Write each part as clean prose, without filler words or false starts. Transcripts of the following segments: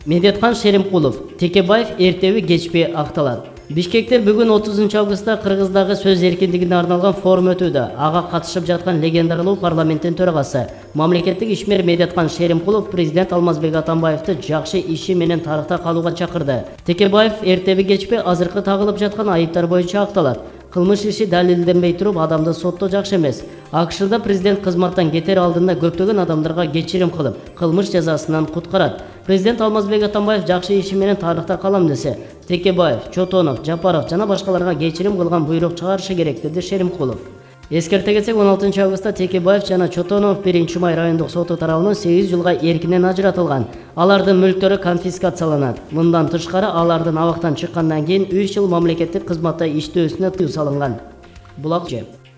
Медеткан Шеримкулов, Текебаев эртеби кечпи акталат. Бишкектер бүгүн 30 августта Кыргыздагы сөз эркиндигине арналган форум өтүүдө. Ага катышып жаткан легендаралуу парламенттин төрагасы, мамлекеттик ишмер Медеткан Шеримкулов президент Алмазбек Атамбаевди жакшы иши менен тарыхта калууга чакырды. Текебаев эртеби кечпи азыркы тагылып жаткан айыптар боюнча акталат. Кылмыш иши далилденбей туруп адамды соттоо жакшы эмес. АКШда президент кызматтан кетер алдында көптөгөн адамдарга кечирим кылып, кылмыш жазасынан куткарат. Президент Алмазбек Атамбаев жакшы иши менен тарыхта калам десе, Текебаев, Чотонов, Жапаров жана башкаларга кечирим кылган буйрук чыгарышы керек, деди Шеримкулов. Эскерте кетсек, 16 августта Текебаев жана Чотонов 1-Май райондук соту тарабынан 8 жылга эркинен ажыратылган. Алардын мүлктөрү конфискацияланат. Мындан тышкары алардын абактан чыккандан кийин 3 жыл мамлекеттик кызматта иштөөсүнө тыюу салынган. Булак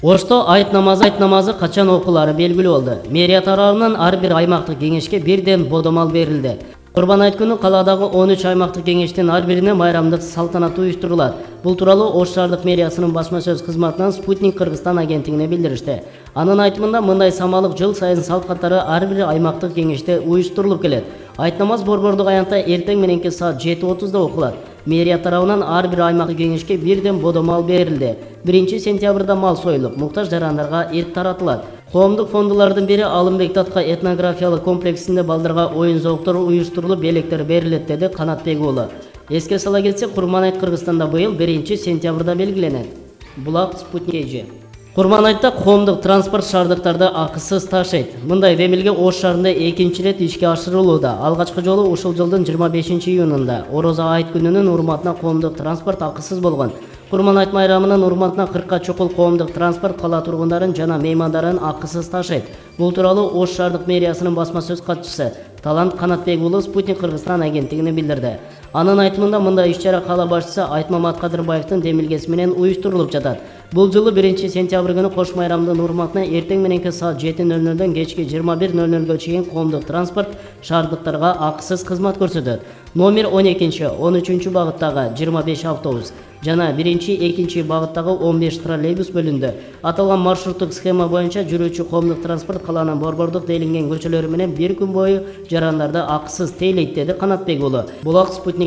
Ошто айт намазы качан окуулары белгилүү болду. Мэрия тарабынан ар бир аймактык кеңешке бирден бодомал берилди. Курбан айт күнү каладагы 13 аймактык кеңештин ар бирине майрамдык салтанат уюштурулат. Бул тууралуу Ош шаардык мэриясынын басма сөз кызматынан Спутник Кыргызстан агенттигине билдиришти. Анын айтымында мындай самалык жыл сайын салт катары ар бир аймактык кеңеште уюштурулуп келет. Айт намаз борбордук аянтта эртең мененки саат 7:30 окулат. Мэрия тарабынан ар бир аймактык кеңешке бирден бодомал берилди. 1-сентябрда мал союлуп, муктаж жарандарга эт таратылат. Коомдук фондулардын бири Алымбек Татка этнографиялык комплексинде балдарга оюн зооктор уюштурулуп, белектер берилет, деди Канатбек уулу. Эске сала кетсек, Курман айт Кыргызстанда быйыл 1-сентябрда белгиленет. Булак Спутник. Курман айтта коомдук транспорт шаардыктарды акысыз ташыйт. Мындай демилге Ош шаарында экинчи рет ишке ашырылууда. Алгачкы жолу ушул жылдын 25-июнунда Орозо айт күнүнүн урматына коомдук транспорт акысыз болгон. Курман айт майрамынын урматына 40-ка чукул коомдук транспорт кала тургундарын жана меймандарын акысыз ташыйт. Бул тууралуу Ош шаардык мэриясынын басма сөз катчысы Талант Канатбек уулу Спутник Кыргызстан агенттигине билдирди. Анын айтымында мындай иш-чара кала башчысы Айтмамат Кадырбаевдин демилгеси менен уюштурулуп жатат. Бул жылы 1-сентябрь күнү кош майрамдын урматына эртең мененки саат 7:00дөн кечки 21:00га чейин коомдук транспорт шаардыктарга акысыз кызмат көрсөтөт. Номер 12-13 багыттагы 25 автобус жана 1-2 багыттагы 15 троллейбус бөлүндү. Аталган маршруттук схема боюнча жүрүүчү коомдук транспорт каланын борбордук делинген көчөлөрү менен бир күн бою жарандарды акысыз тейлейт, деди Канатбек уулу. Булак Спутник.